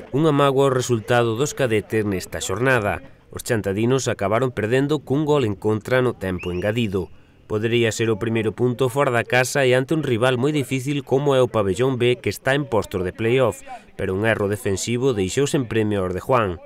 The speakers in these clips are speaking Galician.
Unha mágoa o resultado dos cadetes nesta xornada. Os chantadinos acabaron perdendo cun gol en contra no tempo engadido. Podería ser o primeiro punto fora da casa e ante un rival moi difícil como é o Pabellón B, que está en postos de playoff, pero un erro defensivo deixou sen premio aos de Juan.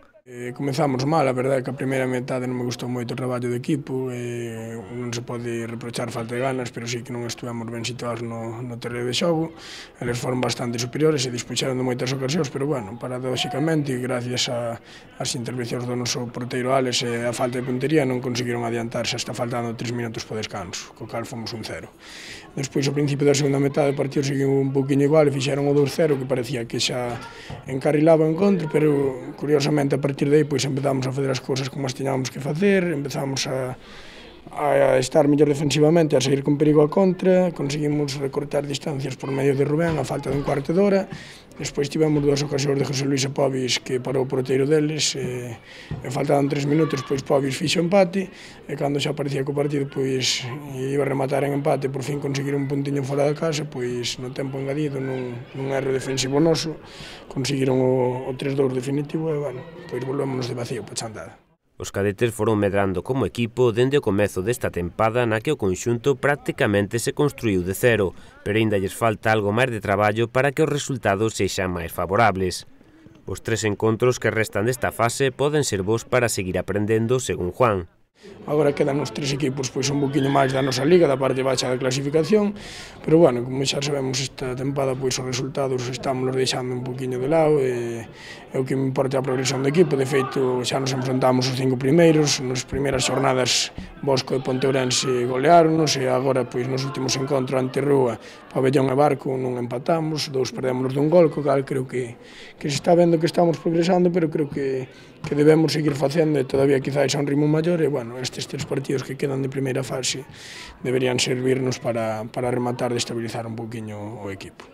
Comezamos mal, a verdade é que a primeira metade non me gustou moito o traballo do equipo, non se pode reprochar falta de ganas, pero sí que non estivemos ben situados no terreo de xogo. Eles foron bastante superiores e dispuxeron de moitas ocasións, pero bueno, paradóxicamente, gracias ás intervencións do noso porteiro Alex e a falta de puntería, non conseguiron adiantarse hasta faltando 3 minutos para o descanso, co cal fomos 1-0. Despois, ao principio da segunda metade, o partido seguiu un poquinho igual e fixeron o 2-0, que parecía que xa encarrilaba o encontro, pero curiosamente a partir de aí pois empezamos a fazer as cousas como as tiñamos que facer, empezamos a estar mellor defensivamente, a seguir con perigo a contra, conseguimos recortar distancias por medio de Rubén a falta dun cuarto de hora. Despois tivemos dúas ocasións de José Luis e Pobis que parou o porteiro deles e faltaban 3 minutos, pois Pobis fixo empate e cando xa parecía que o partido pois iba a rematar en empate, por fin conseguir un puntiño fora da casa, pois no tempo engadido, nun erro defensivo noso, conseguiron o 3-2 definitivo e, bueno, pois volvémonos de vacío para a chantada. Os cadetes foron medrando como equipo dende o comezo desta tempada na que o conxunto prácticamente se construíu de cero, pero aínda lles falta algo máis de traballo para que os resultados sexan máis favorables. Os 3 encontros que restan desta fase poden ser bons para seguir aprendendo, según Juan. Agora quedan os 3 equipos pois un poquinho máis da nosa liga, da parte baixa da clasificación, pero bueno, como xa sabemos esta tempada pois os resultados estamos deixando un poquinho de lado e o que me importa é a progresión do equipo. De feito, xa nos enfrontamos os 5 primeiros, nas primeiras xornadas Bosco e Ponteurense goleáronos e agora pois nos últimos encontros ante Rúa, Pabellón e Barco non empatamos, 2 perdémonos dun gol, co cal creo que se está vendo que estamos progresando, pero creo que debemos seguir facendo e todavía quizás a un ritmo maior e, bueno, estes 3 partidos que quedan de primeira fase deberían servirnos para rematar de estabilizar un poquinho o equipo.